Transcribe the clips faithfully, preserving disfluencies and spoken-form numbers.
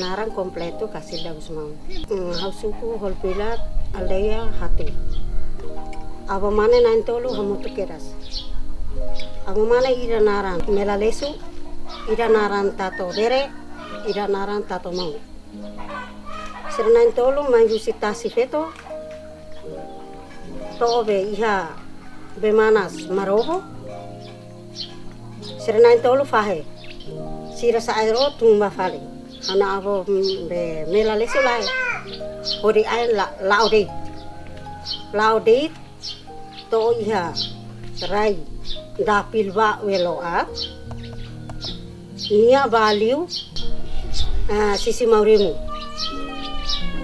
Naran kompletu Casilda Gusmão. Hmm, ha'u suku Holpilat, aldeia Hatu. Avó mane na'in-tolu hamutuk kedas. Avó mane ida naran Mela Lesu, ida naran Tato Bere, ida naran Tato Mau. Sira na'in-tolu mai husi tasi feto, to'o be iha be manas Marobo. Sira na'in-tolu fahe. Sira sa'e ró tun ba fali. Ha'u-nia avó, mm, be Mela Lesu lae. Hodi ai la, la'o de'it. La'o de'it to'o iha rai dapil ba welo a. Nia ba liu, ah, Sisi Maurimu.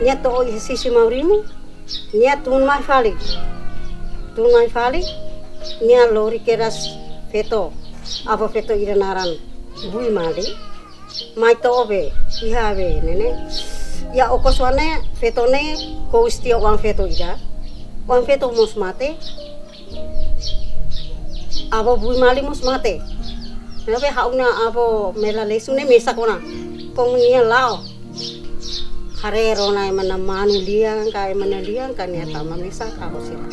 Nia to'o iha Sisi Maurimu, nia tun mai fali. Tun mai fali, nia lori kedas feto, avó feto ida naran Bui Mali. Mai to'o be, iha be ne'e ne'e. Iha okos oan ne'e, feto ne'e, kous tiha oan feto ida. Oan feto mós mate. Avó Bui Mali mós mate. Ne'ebé ha'u-nia avó Mela Lesu ne'e mesak ona. Komu nia la'o. Haree rona ema nia manu lian ka, ema nia lian ka, nia tama mesak avó sira.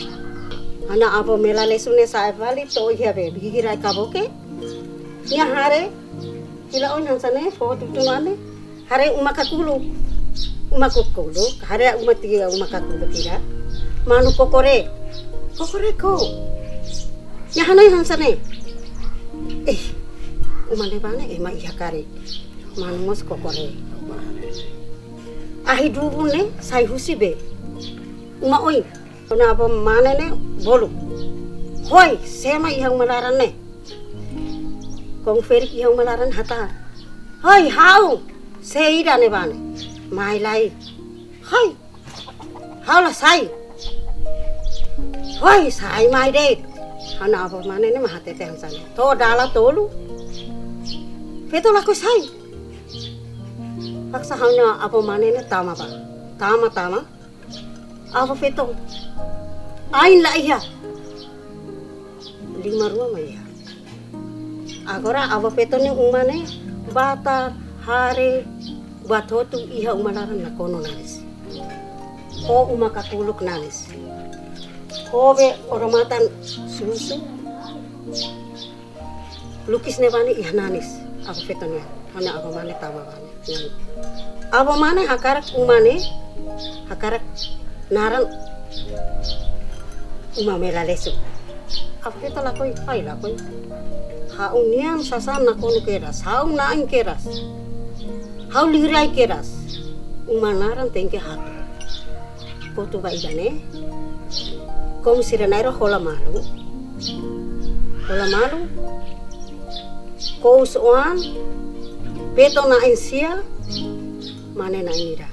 Ha'u-nia avó Mela Lesu ne'e sa'e fali to'o iha be, bigi rai kaboke. Nia haree, hila oin hanesan ne'e, fó tutu mane. Haree uma kakuluk. Uma kakuluk. Haree uma tiha, uma kakuluk tiha. Manu kokorek. Kokorek ko. Nia hanoin hanesan ne'e. Eh, uma ne'ebá ne'e ema iha karik. Manu mós kokorek. Ahi dubun ne'e sai husi be uma oin. Ha'u-nia avó mane ne'e bolu. Hoi, sé mak iha uma laran ne'e? Komu ferik iha uma laran hatán. Hoi, ha'u. Sé ida ne'ebá ne'e? Mai lai. Hoi. Ha'u la sai. Hoi, sai mai de'it. Ha'u-nia avó mane ne'e mak hatete hanesan ne'e. To'o dala tolu. Feto lakohi sai. Paksa ha'u-nia avó mane ne'e tama bá. Tama, tama. Avó feto. Ain la iha. Liman rua mak iha. Agora avó feto nia uma ne'e batar, haree, buat hotu iha uma laran nakonu nanis. Ho uma kakuluk nanis. Ho be odamatan susu. Lukis ne'ebá ne'e iha nanis, avó feto nian. Ha'u-nia avó mane tama bá ne'e. Avó mane hakarak uma ne'e, hakarak naran uma Mela Lesu. Avó feto lakohi, ai lakohi. Ha'u-nian sasán nakonu kedas, ha'u na'in kedas. Ha'u liurai kedas. Uma naran tenke Hatu. Kotu ba ida ne'e. Komu sira na'in-rua hola malu. Hola malu. Kous oan. Feto na'in sia. Mane na'in ida.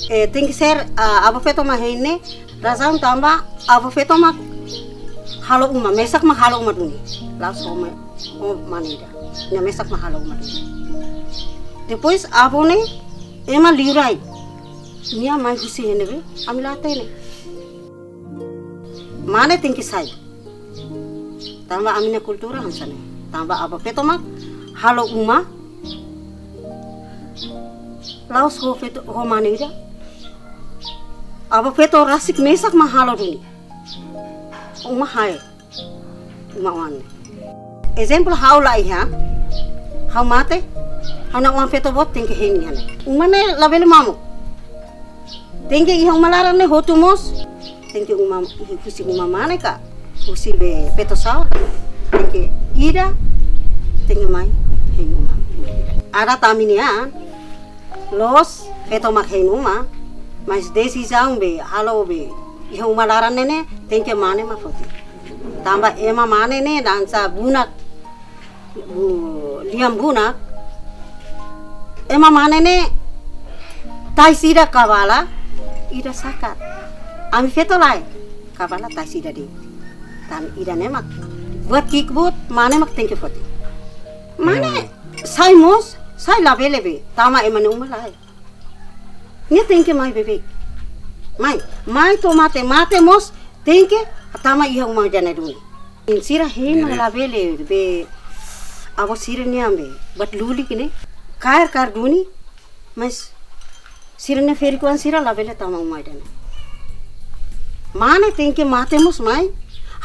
Eh, tenke ser, ah, avó feto mak hein ne'e. Razaun tanba avó feto mak halo uma, mesak mak halo uma duni. La'ós ho ma-, ho mane ida. Nia mesak mak halo uma duni. Depois avó ne'e ema liurai. Nia mai husi iha ne'ebé, ami la hatene. Mane tenke sai. Tanba ami-nia kultura hanesan ne'e. Tanba avó feto mak halo uma. La'ós ho feto, ho mane ida. Avó feto rasik mesak mak halo duni. Uma hae. Uma oan. Ezemplu ha'u la iha. Ha'u mate. Ha'u-nia oan feto boot tenke hein iha ne'e. Uma ne'e labele mamuk. Tenke iha uma laran ne'e hotu mós. Tenke uma, husi uma mane ka. Husi be feto sa'o. Tenke ida. Tenke mai. Hein uma. Adat ami-nian. Loos, feto mak hein uma, mas desizaun be, halo be, iha uma laran ne'e ne'e, tenke mane mak foti. Tanba ema mane ne'e dansa bunak, bu-, lian bunak. Ema mane ne'e, tais ida kabala, ida sakat. Ami feto lae, kabala tais ida de'it. Tan ida ne'e mak. Buat ki'ik boot, mane mak tenke foti. Mane, sai mós, sai labele be, tama ema nia uma lae. Nia tenke mai beibeik. Mai, mai to'o mate, mate mós tenke tama iha uma ida ne'e duni. Sira hein mak labele be, Avó sira-nia be, buat lulik ne'e, kaer kaer duni, mas sira-nia ferik-oan sira labele tama uma ida-ne'e. Mane tenke mate mós mai,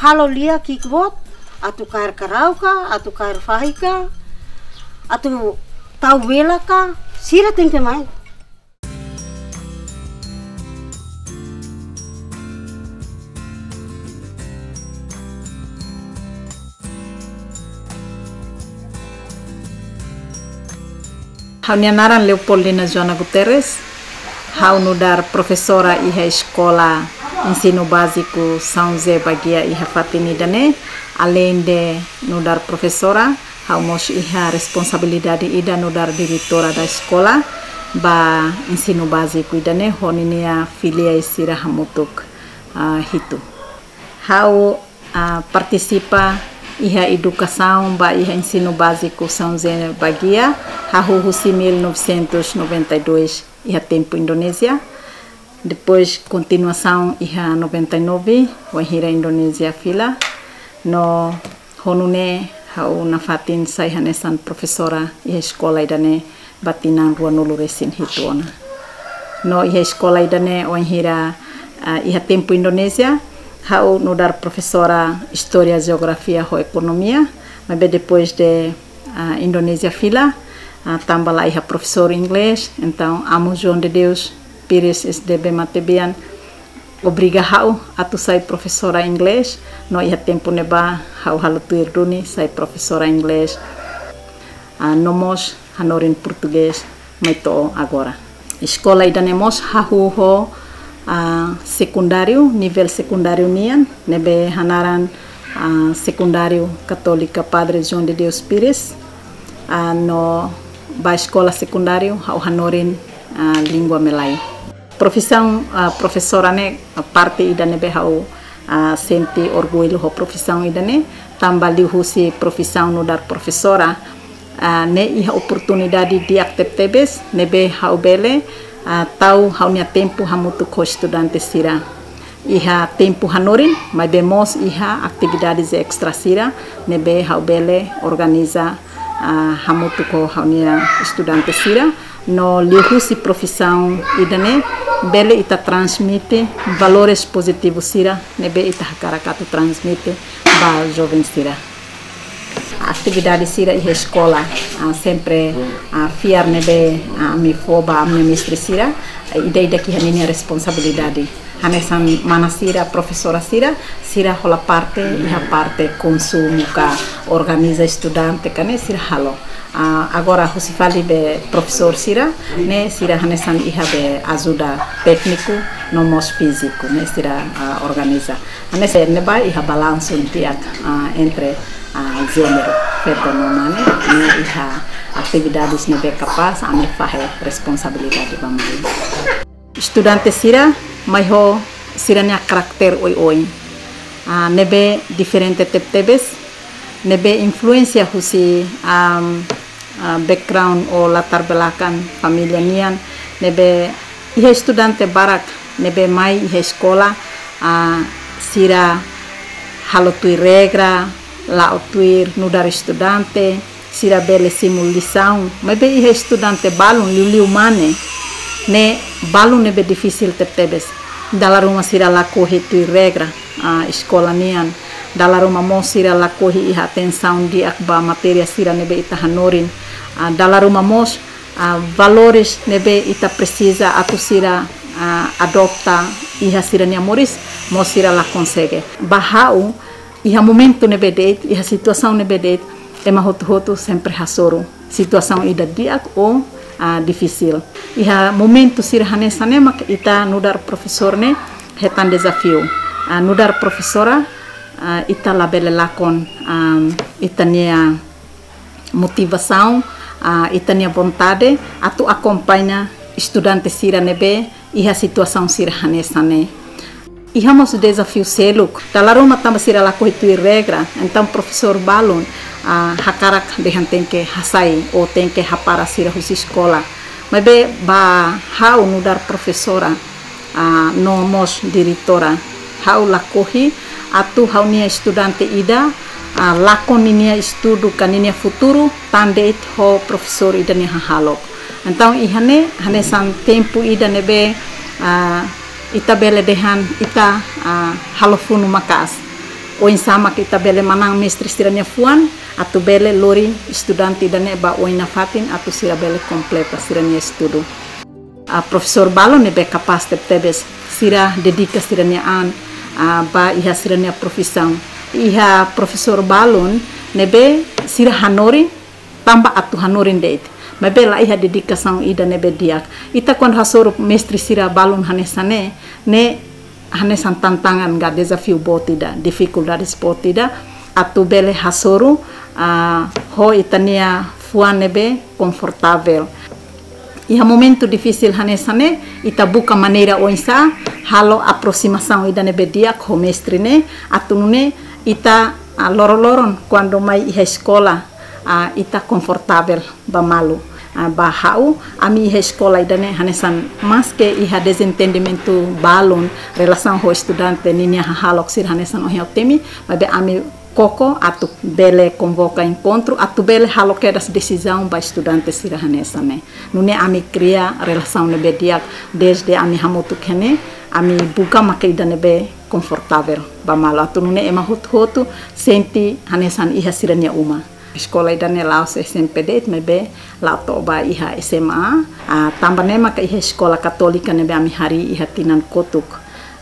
halo lia ki'ik boot, atu kaer karau ka, atu kaer fahi ka, atu tau vela ka, sira tenke mai. Ha'u-nia naran Leopoldina Joana Guterres. Ha'u nu'udar profesora iha Eskola Ensinu Báziku São José Baguia iha fatin ida-ne'e. Aleinde nu'udar profesora, ha'u mós iha responsabilidade ida nu'udar diretora da eskola ba ensinu báziku ida-ne'e ho ninia filiál sira hamutuk, ah, hitu. Ha'u, ah, partisipa iha edukasaun ba iha ensinu báziku São José Baguia, hahú husi mil novecentos e noventa e dois iha tempu Indonézia. Depois kontinuasaun iha noventa e nove, wainhira Indonézia fila. No ho nune'e ha'u nafatin sai hanesan profesora iha eskola ida-ne'e ba tinan rua-nulu resin hitu ona. No iha eskola ida-ne'e wainhira, ah, iha tempu Indonézia, ha'u nu'udar profesora Istória, Jeografia ho Ekonomia, maibé depois de, ah, Indonézia fila, ah, tanba la iha profesór inglés, entaun Amu João de Deus Pires S D B Matebian obriga ha'u atu sai profesora inglés, no iha tempu ne'ebá ha'u halo tuir duni sai profesora inglés, ah, no mós hanorin portugés mai to'o agora. Eskola ida-ne'e mós hahú ho, ah, sekundáriu, nivel sekundáriu nian, ne'ebé hanaran, ah, Sekundáriu Katólika Padre João de Deus Pires, ah, no ba eskola sekundáriu ha'u hanorin, ah, língua Malay. Profisaun, ah, profesora ne'e, ah, parte ida ne'ebé ha'u, ah, sente orgullu ho profisaun ida-ne'e, tanba liuhusi profisaun nu'udar profesora, ah, ne'e iha oportunidade di'ak tebetebes ne'ebé ha'u bele, ah, tau ha'u-nia tempu hamutuk ho estudante sira. Iha tempu hanorin, maibé mós iha atividades extra sira ne'ebé ha'u bele organiza, ah, hamutuk ho ha'u-nia estudante sira. No liuhusi profisaun ida-ne'e bele ita transmite valores pozitivu sira ne'ebé ita hakarak atu transmite ba joven sira. Atividade sira iha eskola, ah, sempre, ah, fiar ne'ebé, ah, ami fó ba ami-nia mestre sira, ah, ida-idak iha ninia responsabilidade. Hanesan mana sira, profesora sira, sira hola parte iha parte konsumu ka organiza estudante ka ne'e sira halo. Ah, agora husi fali be profesór sira, ne'e sira hanesan iha be ajuda tékniku no mós fíziku, ne'e sira, ah, organiza. Hanesan ne'ebá iha balansu di'ak, ah, entre, ah, jéneru, feto no mane, ne'e iha atividades ne'ebé kapás ami fahe responsabilidade ba mai. Estudante sira mai ho sira-nia karakter oioin, ah, ne'ebé diferente tebetebes, ne'ebé influénsia husi, am, ah, background ou latar belakang família nian, ne'ebé iha estudante barak ne'ebé mai iha eskola, ah, sira halo tuir regra, la'o tuir nu'udar estudante, sira bele simu lisaun, maibé iha estudante balun liuliu mane, ne'e balun ne'ebé difisil tebetebes. Dala ruma sira lakohi tuir regra, ah, eskola nian. Dala ruma mós sira lakohi iha atensaun di'ak ba matéria sira ne'ebé ita hanorin. Ah, dala ruma mós, ah, valores ne'ebé ita presiza atu sira, ah, adota iha sira-nia moris, mós sira la konsege. Ba ha'u, iha momentu ne'ebé de'it, iha situasaun ne'ebé de'it, ema hotu-hotu sempre hasoru situasaun ida di'ak ou, ah, difisil. Iha momentu sira hanesan ne'e mak ita nu'udar profesór ne'e hetan dezafiu. Ah, nu'udar profesora, ah, ita labele lakon, ah, ita-nia motivasaun, ah, ita-nia vontade atu akompaña estudante sira ne'ebé iha situasaun sira hanesan ne'e. Iha mós dezafiu seluk. Dala ruma tanba sira lakohi tuir regra, entaun profesór balun, ah, hakarak dehan tenke hasai ou tenke hapara sira husi eskola. Maibé ba ha'u nu'udar profesora, ah, no mós diretora, ha'u lakohi atu ha'u-nia estudante ida, ah, lakon ninia estudu ka ninia futuru tan de'it ho profesór ida nia hahalok. Entaun, iha ne'e hanesan tempu ida ne'ebé, ah, ita bele dehan ita, ah, halo funu maka'as. Oinsá mak ita bele manán mestre sira-nia fuan, atu bele lori estudante ida-ne'e ba oin nafatin, atu sira bele kompleta sira-nia estudu. Ah, profesór balun ne'ebé kapás tebetebes, sira dedika sira-nia an, ah, ba iha sira-nia profisaun. Iha profesór balun ne'ebé sira hanorin tanba atu hanorin de'it, maibé la iha dedikasaun ida ne'ebé di'ak. Ita kuandu hasoru mestre sira balun hanesan ne'e, ne'e hanesan tantangan ka dezafiu boot ida, difikuldades boot ida, atu bele hasoru, ah, ho ita-nia fuan ne'ebé konfortavel. Iha momentu difisil hanesan ne'e, ita buka maneira oinsá halo aprosimasaun ida ne'ebé di'ak ho mestre ne'e, atu nune'e ita, ah, loroloron kuandu mai iha eskola, ah, ita konfortavel ba malu. Ah, ba ha'u, ami iha eskola ida-ne'e hanesan maske iha dezentendimentu balun relasaun ho estudante ninia hahalok sira hanesan ohin ha'u temi, maibé ami koko atu bele konvoka enkontru, atu bele halo kedas desizaun ba estudante sira hanesan ne'e. Nune'e ami kria relasaun ne'ebé di'ak, dezde ami hamutuk iha ne'e, ami buka maka ida ne'ebé konfortavel ba malu. Atu nune'e ema hotu-hotu sente hanesan iha sira-nia uma. Eskola ida-ne'e la'ós S M P de'it, maibé la'o to'o ba iha S M A. Ah, tanba ne'e maka iha eskola katólika ne'ebé ami harii iha tinan kotuk,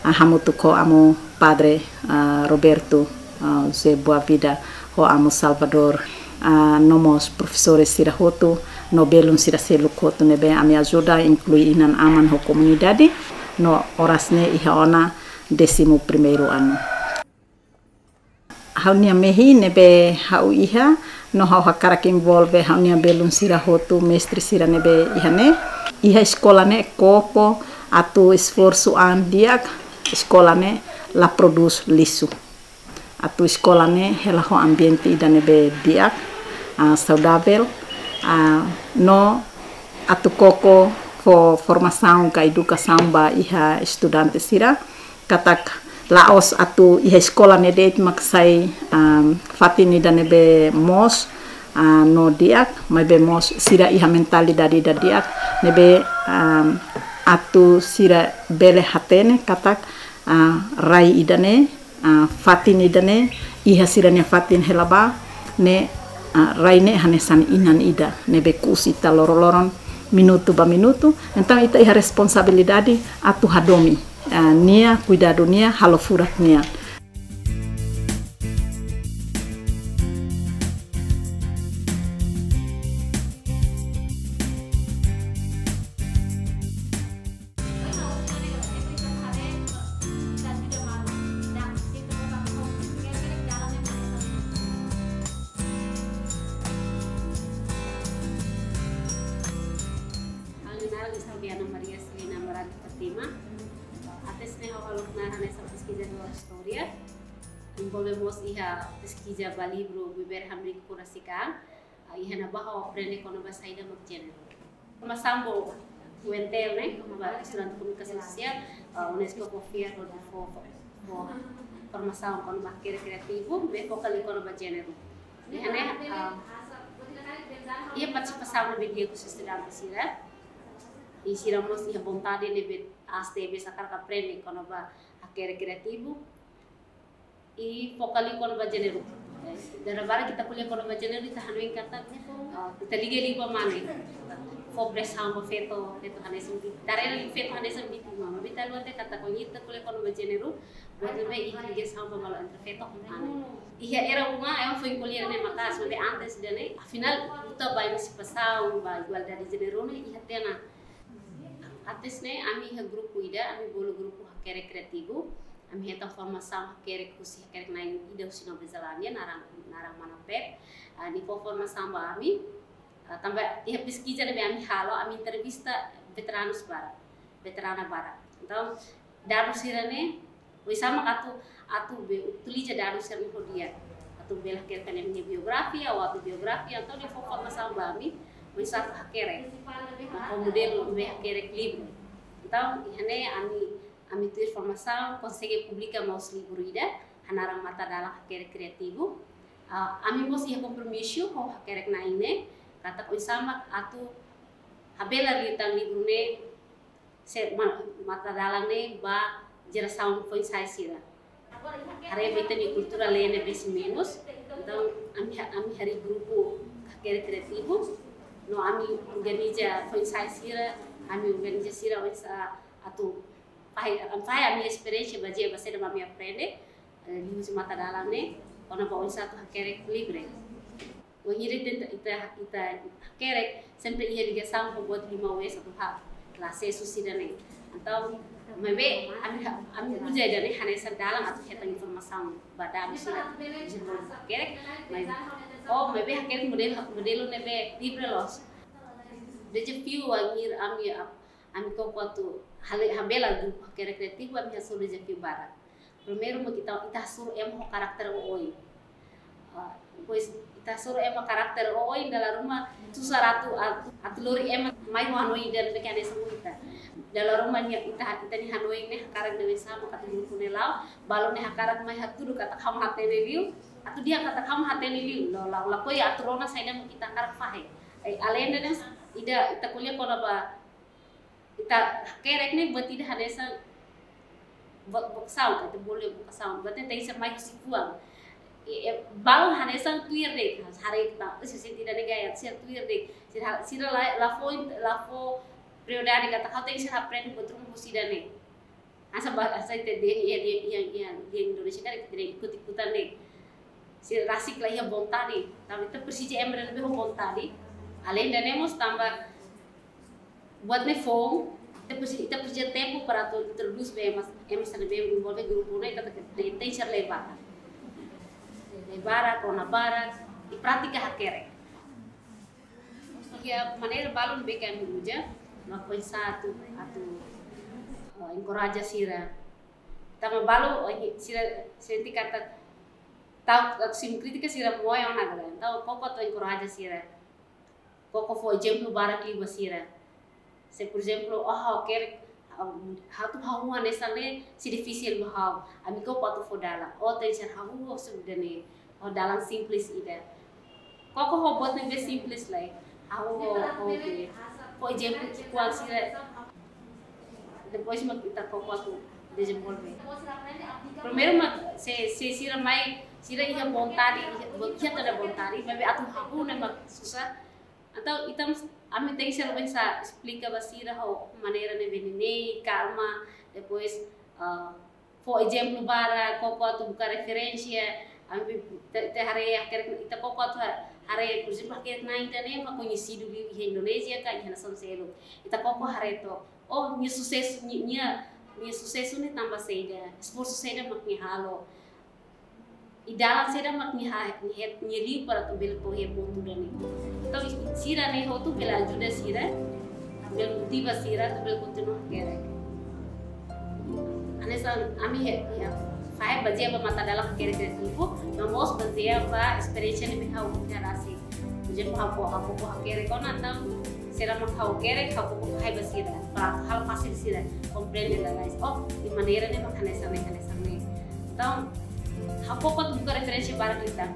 ah, hamutuk ho amu Padre, ah, Roberto, ah, José Boavida, ho amu Salvador, ah, no mós profesores sira hotu, no belun sira seluk hotu ne'ebé ami ajuda, inklui inan-aman ho komunidade, no oras ne'e iha ona décimo primeiro ano. Ha'u-nia mehi ne'ebé ha'u iha, no ha'u hakarak envolve ha'u-nia belun sira hotu, mestre sira ne'ebé iha ne'e. Iha eskola ne'e koko atu esforsu an di'ak, eskola ne'e la prodús lixu. Atu eskola ne'e hela ho ambiente ida ne'ebé di'ak, ah, saudavel, ah, no atu koko fó formasaun ka edukasaun ba iha estudante sira, katak la'ós atu iha eskola ne'e de'it mak sai, am, fatin ida ne'ebé moos, ah, no di'ak, maibé mós sira iha mentalidade ida di'ak, ne'ebé, am, atu sira bele hatene katak, ah, rai ida-ne'e, ah, fatin ida-ne'e, iha sira-nia fatin hela ba, ne'e, ah, rai ne'e hanesan inan ida, ne'ebé ku'us ita loroloron, minutu ba minutu, entaun ita iha responsabilidade atu hadomi, ah, nia, kuidadu nia, halo furak nia. Ha'u-nia naran Silviana Maria Celina Amarante Fatima. Antes ne'e ha'u hala'o naran hanesan peskizadór istória. Envolve mós iha peskiza ba livru Viver Hamriik Fura Sikaan. Ah, iha ne'ebá ha'u aprende kona-ba saida mak jéneru. Formasaun ba U N T L ne'e, ba estudante komunikasaun sosiál, ah, UNESCO fó fiar hodi fó, fó, fó formasaun kona-ba hakerek kriativu, ne'ebé foka liu kona-ba jéneru. Iha ne'e, ah, iha partisipasaun ne'ebé di'ak husi estudante sira. I sira mós iha vontade ne'ebé aas tebes hakarak aprende kona-ba hakerek kriativu. I foka liu kona-ba jéneru. Dala barak ita ko'alia kona-ba jéneru, ita hanoin katak, ah, ita liga liu ba mane. Fó presaun ba feto, feto hanesan vítima. Tarela liu feto hanesan vítima. Maibé ita haluha de'it katak kuandu ita ko'alia kona-ba jéneru, buat ne'ebé iha ligasaun ba malu entre feto ho mane. Iha era uma, ema foin ko'alia ne'e maka'as, maibé antes ida-ne'e, afinál, luta ba emansipasaun, ba igualdade jéneru ne'e iha tiha ona. Antes ne'e, ami iha grupu ida, ami bolu grupu hakerek kriativu. Ami hetan formasaun hakerek husi hakerek na'in ida husi Nova Zelándia, naran, naran mana Pep. Ah, nia fó formasaun ba ami. Ah, tanba iha peskiza ne'ebé ami halo, ami entrevista veteranus barak, veterana barak. Entaun, dadus sira-ne'e, oinsá mak atu, atu be, utiliza dadus sira-ne'e ho di'ak. Atu bele hakerek nia biografia, ou autobiografia, entaun nia fó formasaun ba ami, oinsá atu hakerek. Ho modelu be hakerek livru. Entaun, iha ne'e ami, ami tuir formasaun, konsege publika mós livru ida, hanaran Matadalan Hakerek Kriativu. Ah, ami mós iha kompromisu ho hakerek-na'in ne'e, katak oinsá mak atu habelar liután livru ne'e, se ma-, matadalan ne'e ba jerasaun foin-sa'e sira. Haree ba ita-nia kultura lee ne'ebé menus, entaun ami ha-, ami harii grupu hakerek kriativu, no ami organiza foin-sa'e sira, ami organiza sira oinsá atu fahe, fahe ami-nia esperiénsia bazeia ba saida mak ami aprende, eh, liuhusi matadalan ne'e, kona-ba oinsá atu hakerek livre. Wainhira ita, ita, ita hakerek, sempre iha ligasaun ho buat lima wes atu ha, la asesu sira-ne'e. Entaun, maibé, ami ha-, ami uza ida-ne'e hanesan dalan atu hetan informasaun ba dadus sira, hakerek, maibé, oh, maibé hakerek modelu, modelu ne'ebé livre loos. Dezafiu wainhira ami ap-, ami koko atu hale-, habelar grupu hakerek kriativu, ami hasoru dezafiu barak. Primeiru mak ita, ita hasoru ema ho karakter oioin. Ah, depois ita hasoru ema karakter oioin, dala ruma susar atu, atu, atu lori ema mai ho hanoin ida-ne'ebé hanesan ita. Dala ruma nia ita, ita-nia hanoin ne'e hakarak de'it sama katak grupu ne'e la'o, balu ne'e hakarak mai hatudu katak ha'u mak hatene liu, atu dehan katak ha'u mak hatene liu, la'o, la'o, lakohi atu rona saida mak ita hakarak fahe. Ai, alende ne'e, ida, ita ko'alia kona-ba ita hakerek ne'e buat ida hanesan vo-, vokasaun, ka ita bolu vokasaun, buat ne'e tenke ser mai husi fuan. E, e, balu hanesan tuir de'it, haree ita, se sente ida-ne'e gaya, sira tuir de'it, sira, sira la, la fó, la fó prioridade katak ha'u tenke ser aprende buat ruma husi ida-ne'e. Hanesan ba, hanesan ita dehan iha, iha, iha, iha Indonézia karik ita dehan ikut-ikutan de'it. Sira rasik la iha vontade, tanba ita presiza ema ida ne'ebé ho vontade. Alende ne'e mós tanba buat ne'e foun, ita presi-, ita presiza tempu para atu introdús ba ema, ema sira ne'ebé envolve grupu ne'e, ita tenke, tenke ser leba. Leba, kona barak, i pratika hakerek. Iha maneira balun ne'ebé ami uza, mak oinsá atu, atu, eh, enkoraja sira. Tanba balu, oh, sira sente katak, tau, tau simu krítika sira moe ona agora. Entaun, koko atu enkoraja sira. Koko fó ezemplu barak liu ba sira. Se, por ezemplu, oh, ha'u hakerek, ha'u, ha'u atu hahú hanesan ne'e sei difisil ba ha'u. Ami koko atu fó dalan. Oh, tenke ser hahú, oh, saida ne'e. Oh, dalan simples ida. Koko ho buat ne'ebé simples lai. Ha'u ho, ho be, ho ezemplu ki'ikoan sira. Depois mak ita koko atu dezenvolve. Primeiru mak se, se sira mai, sira iha vontade, iha, iha toda vontade, maibé atu hahú ne'e mak susar. Entaun ita mós, ami tenke ser oinsá esplika ba sira ho maneira ne'ebé neineik, kalma, depois, ah, fó ezemplu barak, koko atu buka referénsia, ami te, te haree hakerek, ita koko atu ha-, haree, por ezemplu, hakerek-na'in ida-ne'e mak koñesidu liu iha Indonézia ka iha nasaun seluk. Ita koko haree to'ok, oh, nia susesu, nia, nia, nia susesu ne'e tanba saida, esforsu saida mak nia halo. I dalan saida mak nia ha-, nia het-, nia liu para atu bele to'o iha pontu ida-ne'e. Entaun, sira-ne'e hotu bele ajuda sira, bele motiva sira, atu bele kontinua hakerek. Hanesan ami he-, iha, fahe bazeia ba matadalan hakerek kriativu, no mós bazeia ba esperiénsia ne'ebé ha'u iha rasik. Por ezemplu, ha'u koko, ha'u koko hakerek ona, entaun, sira mak ha'u hakerek, ha'u koko fahe ba sira, para halo fasil sira komprende lalais. Oh, iha maneira ne'e mak hanesan ne'e, hanesan ne'e. Entaun, ha'u koko atu buka referénsia barak liután.